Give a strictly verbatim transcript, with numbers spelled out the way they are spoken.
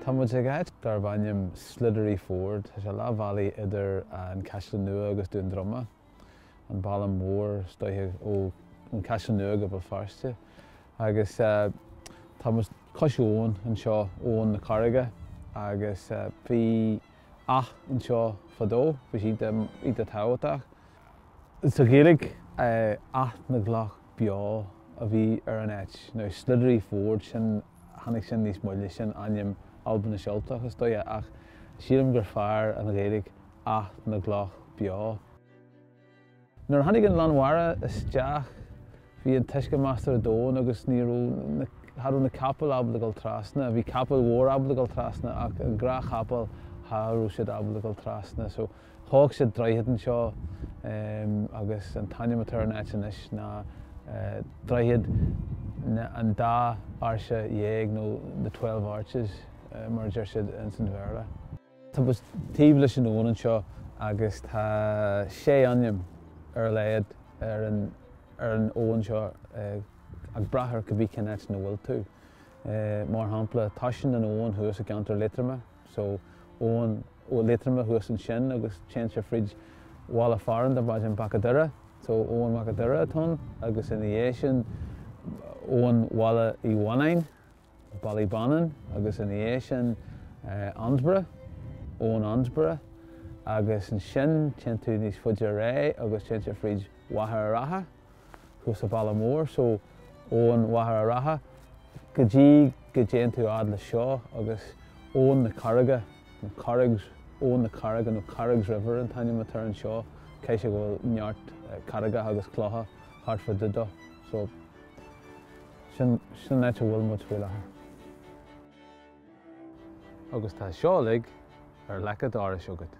Tá muid ag áit darb ainm Sliddery Ford, Tá sé leath bealaigh idir an Caisleán Nua agus Dún Droma, an bealach mór is dóiche ó an Caisleán Nua go Béal Feirste. Agus uh, tá muid cois abhann anseo Abhainn na Carraige agus uh, bhí áth anseo fadó, bhí sí iontach tábhachtach. Sa Ghaeilge Áth na gCloch Beo a bhí ar an áit, nó Sliddery Ford sin tháinig sin níos moille sin ainm Albainis Ultach is dóiche ach sílim gur fearr an Ghaeilge Áth na gCloch Beo. Nuair a tháinig an lán mhara isteach bhí an t-uisce measartha domhain agus ní raibh na capaill ábalta dul trasna, bhí capall mhór ábalta dul trasna ach an gnáthchapall cha raibh siad ábalta dul trasna, so thóg siad droichead anseo um, agus an t-ainm atá ar an áit anois ná uh, droichead an dá áirse dhéag nó the Twelve Arches uh, mar deir siad in san Bhéarla. Tá muid taobh leis an abhainn anseo agus tá sé ainm ar a laghad ar an ar an abhainn seo uh, ag brath ar cibé cén áit ina bhfuil tú. Uh, mar shampla tosaíonn an abhainn thuas i gceantar Liatroma, so abhainn ó Liatroma thuas ansin agus téann sé fríd bhaile fearainn darb ainm Bac an Doire, so Abhainn Mhac an Doire atá ann agus ina dhiaidh sin Abhainn Bhaile Uí Mhanáin, Ballybannon agus ina dhiaidh sin uh, Annsborough, Abhainn Annsborough, agus ansin téann tú níos faide ré agus téann sé fríd Mhachaire Rátha, thuas sa Bhaile Mór, so Abhainn Mhachaire Rátha, go dtí go dtéann tú fhad le seo agus Abhainn na Carraige, na Carraigs Abhainn na Carraige nó Carraigs River an t-ainm atá anseo, cé sé go bhfuil neart carraigeacha agus clocha thart fá dtaobh dó. So sin sin áit a bhfuil muid faoi láthair. Agus tá seo uilig ar leic an dorais agat.